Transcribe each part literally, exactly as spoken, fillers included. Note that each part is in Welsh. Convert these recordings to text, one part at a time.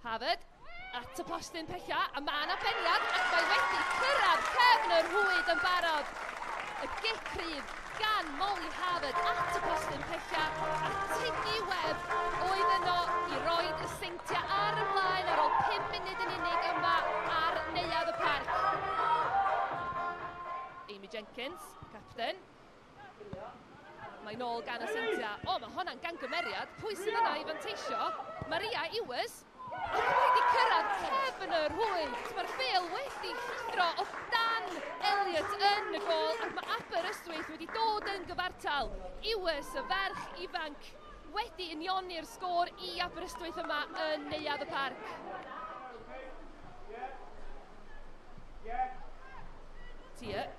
Harvard at y postyn pella, a mae yna beniad, ac mae wedi cyrraedd cefn yr rhwyd yn barod. Y gic cryf gan Molly Harvard at y postyn pella, a Tiggy Webb oedd yno i roid y Seintiau ar y blaen ar ôl pum munud yn unig yma ar Neuadd y Parc. Amy Jenkins, captain. Mae'n ôl gan y Seintiau. O, mae hwnna'n gangymeriad. Pwy sydd yna i fanteisio? Maria Ewers. Ac wedi cyrraedd cefn y rhwyd. Mae'r bêl wedi llithro o dan Elliot yn y gôl, ac mae Aberystwyth wedi dod yn gyfartal. Ewers, y ferch ifanc, wedi unioni'r sgôr i Aberystwyth yma yn Neuadd y Parc. Tier.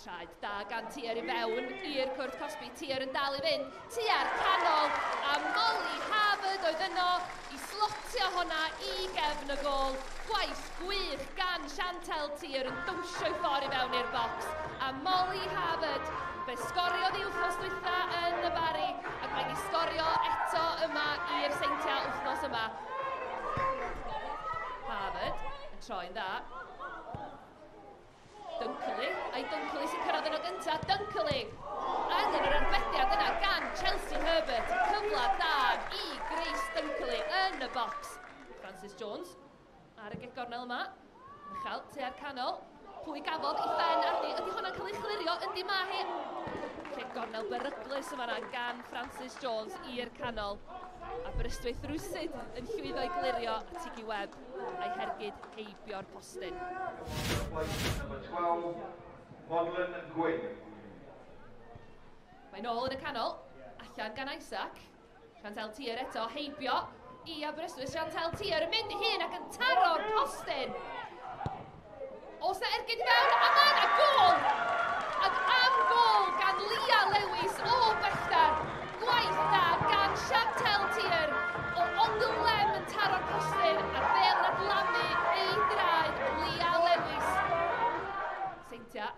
Traed da gan Tier i fewn i'r cwrt cosbi. Tier yn dal i fynd. Tua'r canol, a Molly Harvard oedd yno i slotio honna i gefn y gôl. Gwaith gwych gan Chantel Tier yn dawnsio i ffordd i fewn i'r bocs. A Molly Harvard, fe sgoriodd i wythnos dwytha yn y Barri, ac mae wedi sgorio eto yma i'r Seintiau wythnos yma. Harvard yn troi'n dda. Dunkley, a'i Dunkley sy'n cyrraedd yno gyntaf. Dunkley! Angen yr arbediad yna gan Chelsea Herbert. Cyfle da i Grace Dunkley yn y bocs. Francis Jones ar y gic gornel yma. Uchel, tua'r canol. Pwy gafodd ei phen arni? Ydy hwnna'n cael ei chlirio? Yndi ma hi. Lle gornel beryglus yma gan Francis Jones i'r canol. Aberystwyth rwsyd yn llwyddo i glirio a Tiggy Webb a'i hergyd heibio'r postyn. Number twelve, Modlin Gwyn. Mae'n ôl yn y canol, allan gan Isaac. Chantel Tier eto, heibio i Aberystwyth. Chantel Tier yn mynd i hun ac yn taro'r postyn. Oes na ergyd i fewn, a mae yna gôl! Ac am gôl gan Lia Lewis o bellter. Gwaith da gan Chantel Tier o ongl lem yn taro'r postyn a'r bêl yn adlamu ei draed Lia Lewis. Seintiau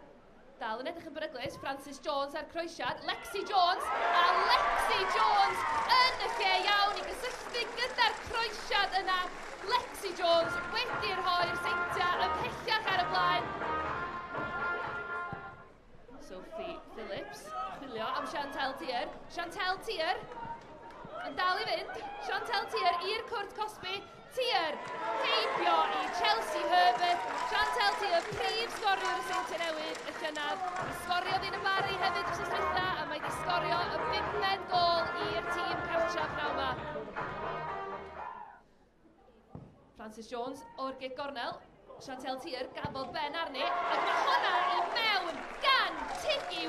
dal yn edrych yn beryglus. Francis Jones ar croesiad. Lexi Jones, a Lexi Jones yn y lle iawn i gysylltu gyda'r croesiad yna. Lexi Jones wedi rhoi'r Seintiau ymhellach ar y blaen. Sophie Phillips, chwilio am Chantel Tier. Chantel Tier yn dal i fynd. Chantel Tier i'r cwrt cosbi. Tier heibio i Chelsea Herbert. Chantel Tier, prif sgoriwr y Seintiau Newydd y llynedd. Mi sgoriodd un y Barri hefyd wrth dwytha, a mae wedi sgorio y bumed gôl i'r tîm cartref pnawn yma. Francis Jones o'r gic gornel. Chantel Tier gafodd ben arni, ac mae hwnna i mewn gan Tiggy